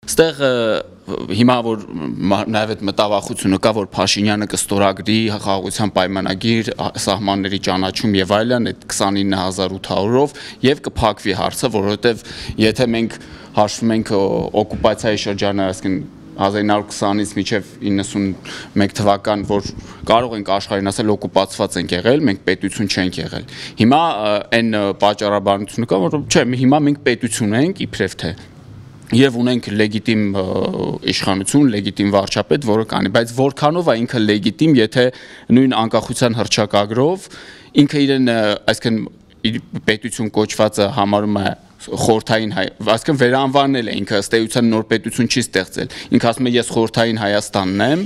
Ստեղ հիմա որ նաև այդ մտավախությունը կա, որ Փաշինյանը կստորագրի խաղաղության պայմանագիր, սահմանների ճանաչում եւ այլն այդ 29800-ով եւ կփակվի հարցը, որովհետեւ եթե մենք հաշվում ենք օկուպացիայի շրջանը, այսինքն 1920-ից մինչև 91 թվական, որ կարող ենք աշխարհին ասել օկուպացված ենք եղել, մենք պետություն չենք եղել։ Հիմա այն պատճառաբանությունը կա, որ չէ, հիմա մենք պետություն ենք, իբրև թե եւ ունենք լեգիտիմ իշխանություն, լեգիտիմ վարչապետ, որը կանի, բայց որքանով է ինքը լեգիտիմ, եթե նույն անկախության հռչակագրով ինքը իրեն, այսինքն պետություն կոչվածը համարում է խորհրդային այսինքն վերանվանել է ինքը ըստ էության նոր պետություն չի ստեղծել։ Ինքը ասում է ես խորհրդային Հայաստանն եմ,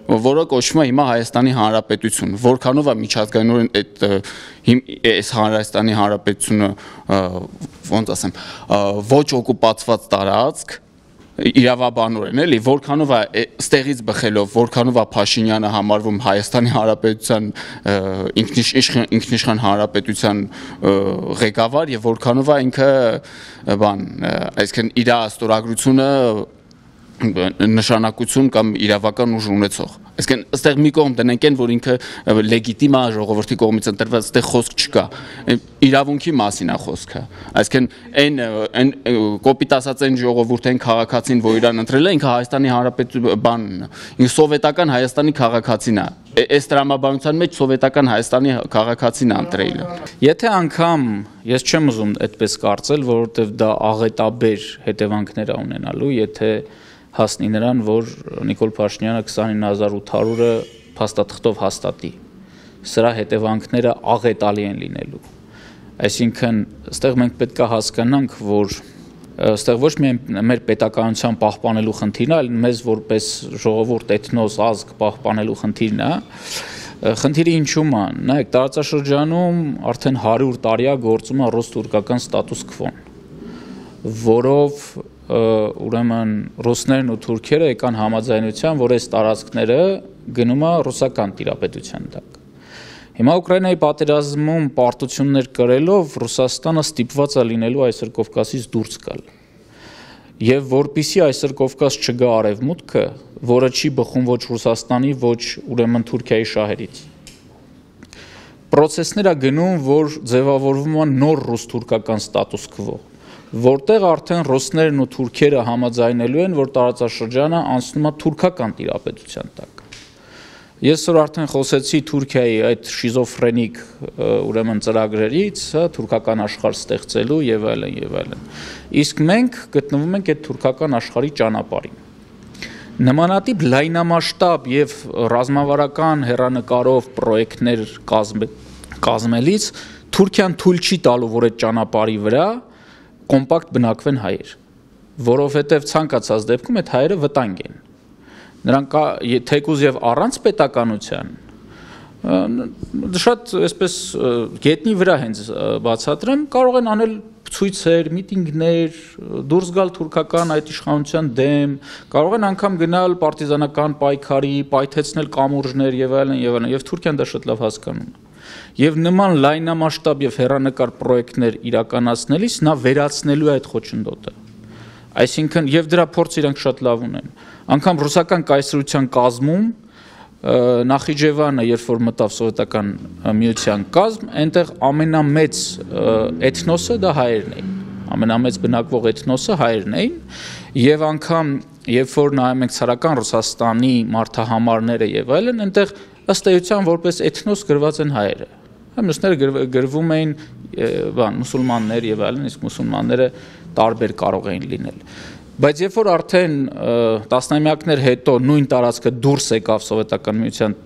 որը կոչվում է հիմա Հայաստանի Հանրապետություն։ Որքանով է միջազգայինորեն այս Հայաստանի Հանրապետությունը, ոնց ասեմ, ոչ օկուպացված տարածք իրավաբանորեն էլի, որքանով է ստեղից բխելով, որքանով է Փաշինյանը համարվում Հայաստանի Հանրապետության ինքնիշխան հանրապետության ղեկավար եւ որքանով է ինքը այսինքն իր ստորագրությունը նշանակություն կամ իրավական ուժ ունեցող։ Այսինքն այստեղ մի կողմ դնենք են, որ ինքը լեգիտիմ է ժողովրդի կողմից ընտրված, այստեղ խոսք չկա։ Իրավունքի մասին է խոսքը։ Այսինքն այն կոպիտ ասած այն ժողովուրդային քաղաքացին, որ իրան ընտրել է, ինքը Հայաստանի Հանրապետության բանն է։ Ինքը սովետական Հայաստանի քաղաքացին է։ Այս տրամաբանության մեջ սովետական Հայաստանի քաղաքացին է ընտրել։ Եթե անգամ ես չեմ ուզում այդպես կարծել, որովհետև դա աղետաբեր հետևանքներ է ունենալու, եթե հասնի նրան, որ Նիկոլ Փաշինյանը 29800-ը փաստաթղթով հաստատի։ Սրա հետևանքները աղետալի են լինելու։ Այսինքն, այստեղ մենք պետք է հասկանանք, որ այստեղ ոչ միայն մեր պետականության պահպանելու խնդիրն է, այլ մեզ որպես ժողովուրդ, էթնոս, ազգ պահպանելու խնդիրն է։ Խնդիրը ինչու՞մ է։ Նայեք, տարածաշրջանում արդեն 100 տարի է գործում է ռուս-թուրքական ստատուս քվոն, որով ուրեմն ռուսներն ու թուրքերը եկան համաձայնության, որ այս տարածքները գնում է ռուսական տիրապետության տակ։ Հիմա Ուկրաինայի պատերազմում պարտություններ կրելով Ռուսաստանը ստիպված է լինելու այսօր Կովկասից դուրս գալ։ Եվ որպիսի այսօր Կովկաս չգա արևմուտքը, որը չի բխում ոչ Ռուսաստանի, ոչ ուրեմն Թուրքիայի շահերից։ Պրոցեսներ է գնում, որ ձևավորվում է նոր ռուս-թուրքական ստատուս քվո, որտեղ արդեն ռուսներն ու թուրքերը համաձայնելու են, որ տարածաշրջանը անցնում է թուրքական տիրապետության տակ։ Ես որ արդեն խոսեցի Թուրքիայի այդ շիզոֆրենիկ ուրեմն ծրագրերից, թուրքական աշխարհ ստեղծելու եւ այլն եւ այլն։ Իսկ մենք գտնվում ենք այդ թուրքական աշխարհի ճանապարհին։ Նմանատիպ լայնամասշտաբ եւ ռազմավարական հեռանկարով պրոյեկտներ կազմելիս Թուրքիան թույլ չի տալու, որ այդ ճանապարհի վրա կոմպակտ բնակվեն հայեր, որովհետև ցանկացած դեպքում այդ հայերը վտանգ են։ Նրանք թեկուզ եւ առանց պետականության շատ այսպես գետնի վրա հենց բացատրեմ, կարող են անել ցույցեր, միտինգներ, դուրս գալ թուրքական այդ իշխանության դեմ, կարող են անգամ գնալ պարտիզանական պայքարի, պայթեցնել կամուրջներ եւ այլն եւ Թուրքիան դա շատ լավ հասկանում է։ Եվ նման լայնամասշտաբ եւ հեռանկար պրոյեկտներ իրականացնելիս նա վերացնելու է այդ խոչընդոտը։ Այսինքն եւ դրա փորձը իրանք շատ լավ ունեն։ Անկամ ռուսական կայսրության կազմում Նախիջևանը, երբ որ մտավ սովետական միության կազմ, այնտեղ ամենամեծ էթնոսը դա հայերն էին։ Ամենամեծ բնակվող էթնոսը հայերն էին եւ անգամ երբ որ նայում ենք ցարական Ռուսաստանի մարդահամարները եւ այլն, այնտեղ ըստ էության որպես էթնոս գրված են հայերը։ Մյուսները գրվում էին մուսուլմաններ եւ այլն, իսկ մուսուլմանները տարբեր կարող էին լինել։ Բայց երբ որ արդեն տասնամյակներ հետո նույն տարածքը դուրս եկավ սովետական միության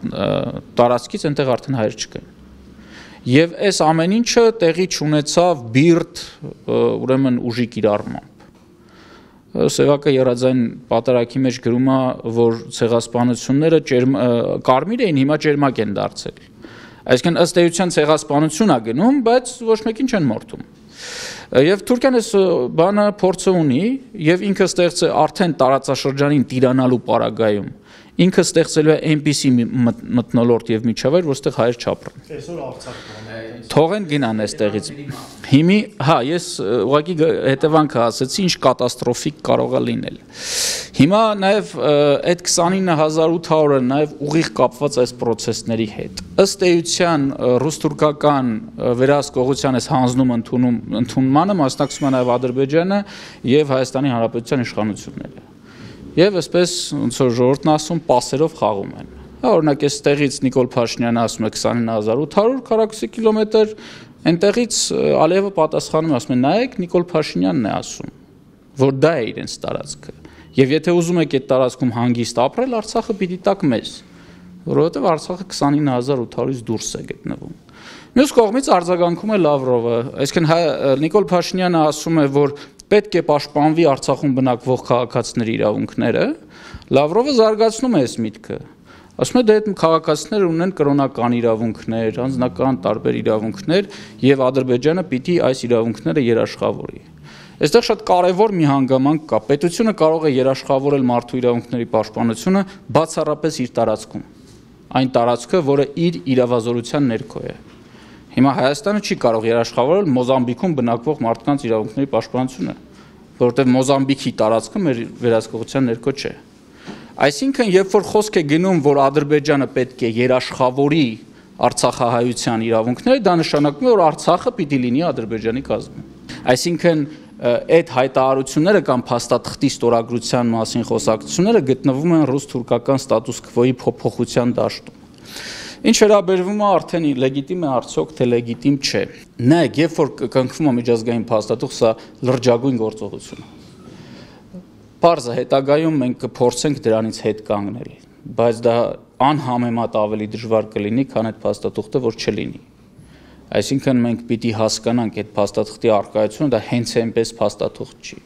տարածքից, այնտեղ արդեն հայեր չկային։ Եվ այս ամեն ինչը տեղի չունեցավ բիրտ ուրեմն ուժի կիրառմամբ։ Սևակը եռաձայն պատարագի մեջ գրում է, որ ցեղասպանությունները կարմիր էին, հիմա ճերմակ են դարձել։ Այսինքն ըստ էության ցեղասպանություն է գնում, բայց ոչ մեկին չեն մորթում։ Եվ Թուրքիան այս բանը փորձը ունի եւ ինքը ստեղծ է արդեն տարածաշրջանին տիրանալու պարագայում ինքը ստեղծելու է այնպիսի մթնոլորտ եւ միջավայր, որտեղ հայեր չապրեն։ Այսօր Արցախ Թողեն գնան այստեղից։ Հիմի, հա, ես ուղղակի հետևանքը ասացի, ինչ կատաստրոֆիկ կարող է լինել։ Հիմա նաև այդ 29800-ը նաև ուղիղ կապված այս process-ների հետ։ Ըստ էության ռուս-թուրքական վերահսկողության այս հանձնում ընդունմանը մասնակցում է նաև Ադրբեջանը եւ Հայաստանի Հանրապետության իշխանությունները։ Եվ այսպես ոնց որ ժողովուրդն ասում, պասերով խաղում են։ Օրինակ այստեղից Նիկոլ Փաշինյանը ասում է 29800 քառակուսի կիլոմետր, այնտեղից Ալիևը պատասխանում է, ասում է նայեք, Նիկոլ Փաշինյանն է ասում, որ դա է իրենց տարածքը։ Եվ եթե ուզում եք այդ տարածքում հանգիստ ապրել, Արցախը պիտի տաք մեզ, որովհետև Արցախը 29800-ից դուրս է գտնվում։ Մյուս կողմից արձագանքում է Լավրովը, այսինքն Նիկոլ Փաշինյանը ասում է, որ պետք է պաշտպանվի Արցախում բնակվող քաղաքացիների իրավունքները, Լավրովը զարգացնում է այս միտքը։ Ասում է դե այդ քաղաքացիները ունեն կրոնական իրավունքներ, անձնական տարբեր իրավունքներ եւ Ադրբեջանը պիտի այս իրավունքները երաշխավորի։ Այստեղ շատ կարևոր մի հանգամանք կա։ Պետությունը կարող է երաշխավորել մարդու իրավունքների պաշտպանությունը բացառապես իր տարածքում։ Այն տարածքը, որը իր իրավազորության ներքո է։ Հիմա Հայաստանը չի կարող երաշխավորել Մոզամբիկում բնակվող մարդկանց իրավունքների պաշտպանությունը, որովհետև Մոզամբիկի տարածքը մեր վերահսկողության ներքո չէ։ Այսինքն, երբ որ խոսք է գնում, որ Ադրբեջանը պետք է երաշխավորի արցախահայության իրավունքները, դա նշանակում է, որ Արցախը պիտի լինի Ադրբեջանի կազմում։ Այսինքն, այդ հայտարարությունները կամ փաստաթղթի ստորագրության մասին խոսակցությունները գտնվում են ռուս-թուրքական ստատուս քվոյի փոփոխության դաշտում։ Ինչ վերաբերվում է արդեն լեգիտիմ է արդյոք թե լեգիտիմ չէ։ Նայեք, երբ որ կնքվում է միջազգային փաստաթուղթ, սա լրջագույն գործողություն է։ Պարզ է, հետագայում մենք կփորձենք դրանից հետ կանգնել, բայց դա անհամեմատ ավելի դժվար կլինի, քան այդ փաստաթուղթը, որ չլինի։ Այսինքն մենք պիտի հասկանանք այդ փաստաթղթի առկայությունը, դա հենց այնպես փաստաթուղթ չի։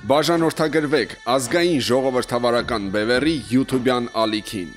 Բաժանորդագրվեք ազգային ժողովրդավարական բևեռի YouTube-յան ալիքին։